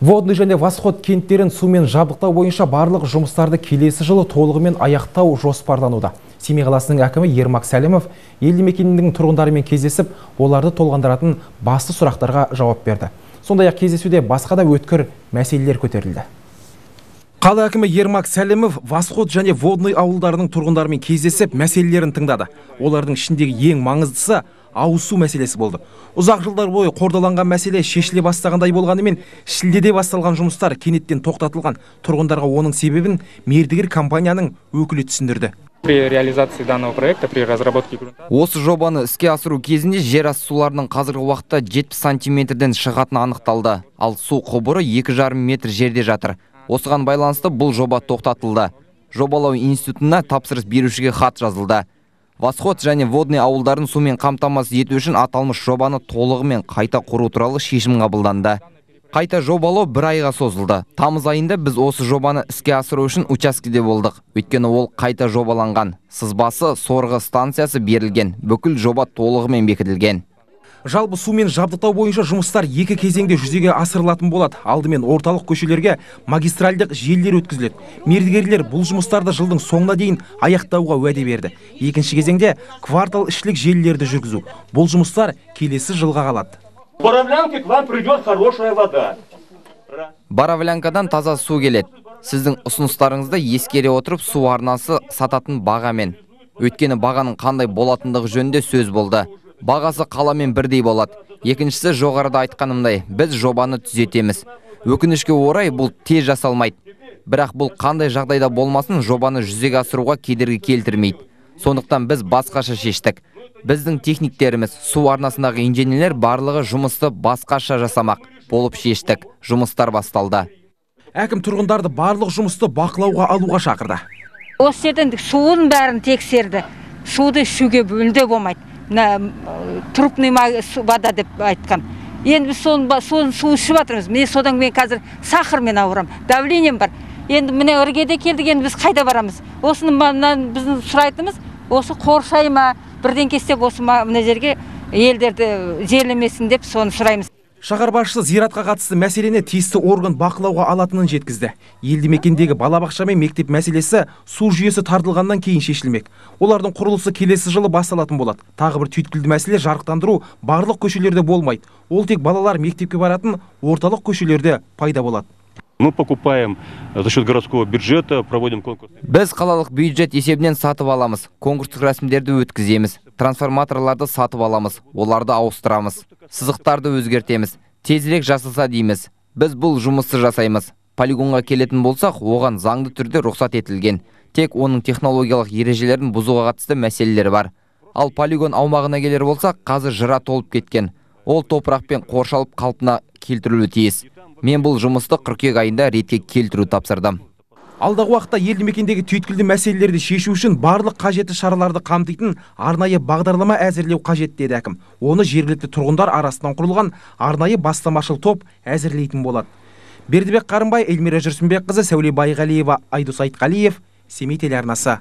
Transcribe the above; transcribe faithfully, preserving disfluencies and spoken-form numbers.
Водный және Восход кенттерін сумен жабдықтау бойынша барлық жұмыстарды келесі жылы толығымен аяқтау жоспарлануда. Семей қаласының әкімі Ермак Сәлімов елді мекенінің тұрғындарымен кездесіп, оларды толғандыратын басты сұрақтарға жауап берді. Сондай-ақ кездесуде басқа да өткір мәселелер көтерілді. Қала әкімі Ермак Сәлімов Восход және Водный ауылдарының тұрғындарымен кездесіп, мәселелерін тыңдады. Олардың ішіндегі ең маңыздысы ауызсу мәселесі болды. Ұзақ жылдар бойы қордаланған мәселе шешіле бастағандай болғанымен, шілдеде басталған жұмыстар кенеттен тоқтатылған. Тұрғындарға оның себебін мердігер компанияның өкілі түсіндірді. При реализации данного проекта, при разработке грунта... Осы жобаны іске асыру кезінде жер асты суларының қазіргі уақытта жетпіс сантиметрден шығатыны анықталды. Ал су құбыры екі жарым метр жерде жатыр. Осыған байланысты бұл жоба тоқтатылды. Жобалау институтына тапсырыс берушіге хат жазылды. Восход және Водный ауылдарын сумен қамтамасыз ету үшін аталмыш жобаны толығымен қайта құру туралы шешім қабылданды. Қайта жобалау бір айға созылды. Тамыз айында біз осы жобаны іске асыру үшін учаскеде болдық. Өйткені ол қайта жобаланған. Сызбасы, сорғы станциясы берілген. Бүкіл жоба толығымен бекітілген. Жалпы сумен жабдықтау бойынша жұмыстар екі кезеңде жүзеге асырылатын болады. Алдымен орталық көшелерге магистральдық желілер өткізіледі. Мердігерлер бұл жұмыстарды жылдың соңына дейін аяқтауға уәде берді. Екінші кезеңде квартал ішілік желілерді жүргізу. Бұл жұмыстар келесі жылға қалады. Боровлянке к вам придет хорошая вода. Боровлянкадан таза су келеді. Сіздің ұсыныстарыңызды ескере отырып су арнасы сататын бағамен. Өйткені бағаның қандай болатындығы жөнінде сөз болды. Бағасы қаламен бірдей болады. Екіншісі жоғарыда айтқанымдай, біз жобаны түзетеміз. Өкінішке орай бұл тез жасалмайды. Бірақ бұл қандай жағдайда болмасын жобаны жүзеге асыруға кедергі келтірмейді. Сондықтан біз басқаша шештік. Біздің техниктеріміз, су арнасындағы инженерлер барлығы жұмысты басқаша жасамақ болып шештік. Жұмыстар басталды. Әкім тұрғындарды барлық жұмысты бақылауға алуға шақырды. Осы жерден суын бәрін тексерді. Суды ішуге бөлінді болмайды. Трупный вода деп айтқан. Енді соны су ішіп жатырмыз. Міне содан мен қазір сахармен ауырам, давлением бар. Енді міне іргеде келдік, енді біз қайда барамыз? Осыны біздің сұрайтымыз, осы қоршай ма, бірден кестеп осы мына жерге елдерді жерлемесін деп соны сұраймыз. Шаһар басшысы зиратқа қатысты мәселені тиісті орган бақылауға алатынын жеткізді. Елді мекендегі балабақша мен мектеп мәселесі су жүйесі тартылғаннан кейін шешілмек. Олардың құрылысы келесі жылы басталатын болады. Тағы бір түйткілді мәселе жарықтандыру барлық көшелерде болмайды. Ол тек балалар мектепке баратын орталық көшелерде пайда болады. Мы покупаем за счет городского бюджета, проводим конкурс. Біз қалалық бюджет есебінен сатып аламыз. Конкурстық рәсімдерді өткіземіз. Трансформаторларды сатып аламыз. Оларды ауыстырамыз. Сызықтарды өзгертеміз. Тезірек жасалса дейміз. Біз бұл жұмысты жасаймыз. Полигонға келетін болсақ, оған заңды түрде рұқсат етілген. Тек оның технологиялық ережелерін бұзуға қатысты мәселелері бар. Ал полигон аумағына келер болсақ, қазір жыра толып кеткен. Ол топырақпен қоршалып қалпына келтірілуі тиіс. Мен бұл жұмысты қыркүйек айында ретке келтіру тапсырдым. Алдағы уақытта елді мекендегі түйткілді мәселелерді шешу үшін барлық қажетті шараларды қамтитын арнайы бағдарлама әзірлеу қажет деді әкім. Оны жергілікті тұрғындар арасынан құрылған арнайы бастамашыл топ әзірлейтін болады. Бердібек Қарымбай, Эльмира Жүрсінбекқызы, Сәуле Байғалиева, Айдос Айтқалиев, Семей телеарнасы.